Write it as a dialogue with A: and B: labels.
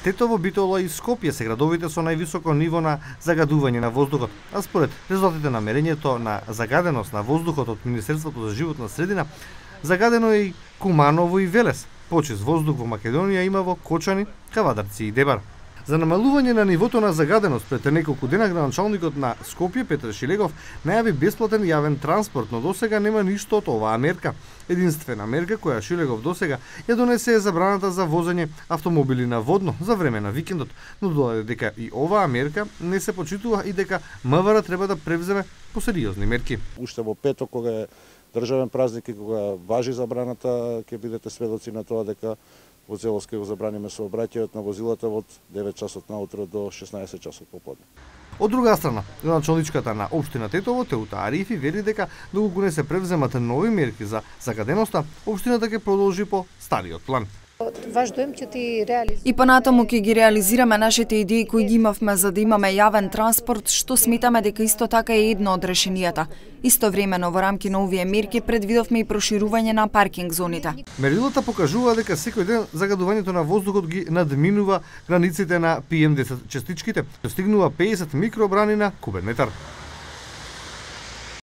A: Тетово, Битола и Скопје се градовите со највисоко ниво на загадување на воздухот, а според резултатите на мерењето на загаденост на воздухот од Министерството за животна средина, загадено е и Куманово и Велес. Почист воздух во Македонија има во Кочани, Кавадарци и Дебар. За намалување на нивото на загаденост пред неколку дена градоначалникот на Скопје Петар Шилегов најави бесплатен јавен транспорт, но досега нема ништо од оваа мерка. Единствена мерка која Шилегов досега ја донесе е забраната за возење автомобили на водно за време на викендот, но додаде дека и оваа мерка не се почитува и дека МВР треба да превземе посериозни мерки.
B: Уште во петок, кога е државен празник и кога важи забраната, ќе бидете сведоци на тоа дека во целост ќе го забраниме сообраќајот на возилата од 9 часот наутро до 16 часот поподне.
A: Од друга страна, градоначалничката на општина Тетово Теута Арифи вели дека доколку не се превземат нови мерки за загаденоста, општината ќе продолжи по стариот план.
C: И понатаму ќе ги реализираме нашите идеи кои ги имавме за да имаме јавен транспорт, што сметаме дека исто така е едно од решенијата. Истовремено во рамки на овие мерки предвидовме и проширување на паркинг зоните.
A: Мерилата покажува дека секој ден загадувањето на воздухот ги надминува границите на PM10 частичките, достигнува 50 микробрани на кубен метар.